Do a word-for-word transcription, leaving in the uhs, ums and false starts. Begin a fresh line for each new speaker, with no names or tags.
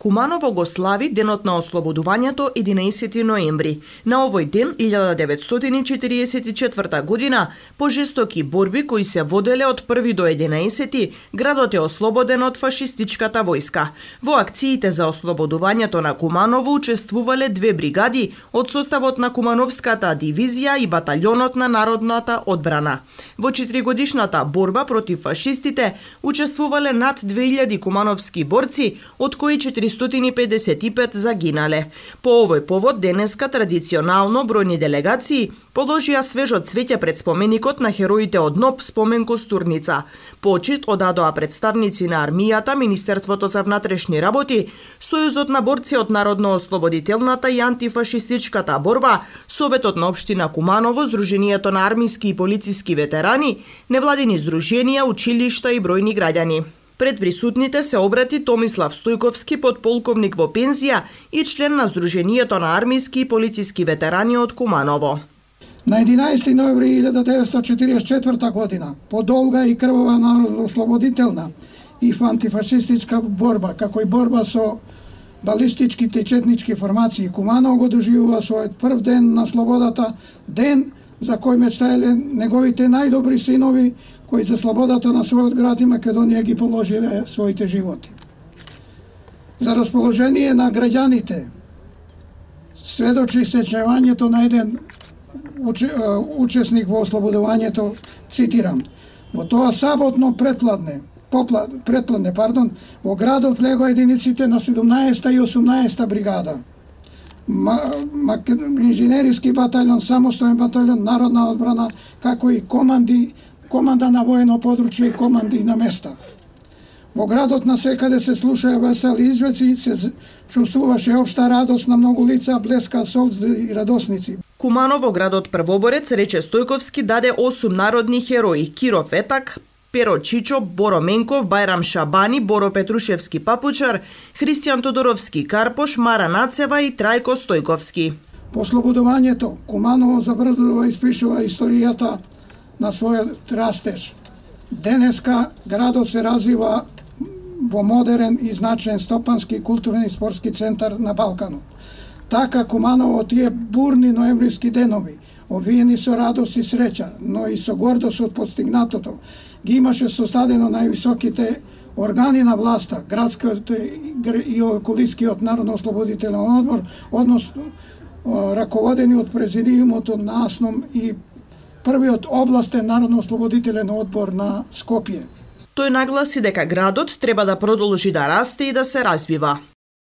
Куманово го слави денот на ослободувањето единаесети ноември. На овој ден, илјада деветстотини четириесет и четврта година, по жестоки борби кои се воделе од први до единаесети, градот е ослободен од фашистичката војска. Во акциите за ослободувањето на Куманово учествувале две бригади од составот на Кумановската дивизија и баталјонот на народната одбрана. Во четиригодишната борба против фашистите учествувале над две илјади кумановски борци, од кои четиристотини и педесет и пет загинале. По овој повод денеска традиционално бројни делегации положија свежо цвеќе пред споменикот на хероите од НОБ спомен Костурница. Почит одадоа представници на армијата, Министерството за внатрешни работи, Сојузот на борци од Народно-ослободителната и антифашистичката борба, Советот на општина Куманово, Сдруженијето на армиски и полициски ветерани, невладини здруженија, училишта и бројни граѓани. Пред присутните се обрати Томислав Стојковски, подполковник во пензија и член на Сдруженијето на армиски и полициски ветерани од Куманово.
На единаесети ноември илјада деветстотини четиридесет и четврта година, по долга и крвава народно-ослободителна и антифашистичка борба, како и борба со балистичките и четнички формации, Куманово го доживува својот прв ден на слободата, ден за кој мечтаеле неговите најдобри синови, кои за слободата на својот град и Македонија ги положиле своите животи. За расположение на граѓаните сведочи сечнувањето на еден учесник во ослободувањето, цитирам: во тоа саботно претпладне, претпладне, пардон, во градот легоа единиците на седумнаесета и осумнаесета бригада, инженериски батальон, самостоен батальон, народна одбрана, како и команди, команда на воено подручје и команди на места. Во градот насекаде се слушаја весели извеци, се чувствуваше општа радост на многу лица, блеска солзи и радосници.
Куманово, градот првоборец, рече Стојковски, даде осум народни херои: Киро Фетак, Перо Чичо, Боро Менков, Бајрам Шабани, Боро Петрушевски Папучар, Христијан Тодоровски Карпош, Мара Нацева и Трајко Стојковски.
По ослободувањето, Куманово забрзува испишува историјата на својот растеж. Денеска градот се развива во модерен и значаен стопански, културен и спортски центар на Балканот. Така Куманово тие бурни ноемвриски денови, обвиени со радост и среќа, но и со гордост од постигнатото, ги имаше состадено највисоките органи на власта, градскиот и околискиот Народно-ослободителен одбор, односно раководени од президиумот на АСНОМ и првиот областен Народно-ослободителен одбор на Скопје.
Тој нагласи дека градот треба да продолжи да расте и да се развива.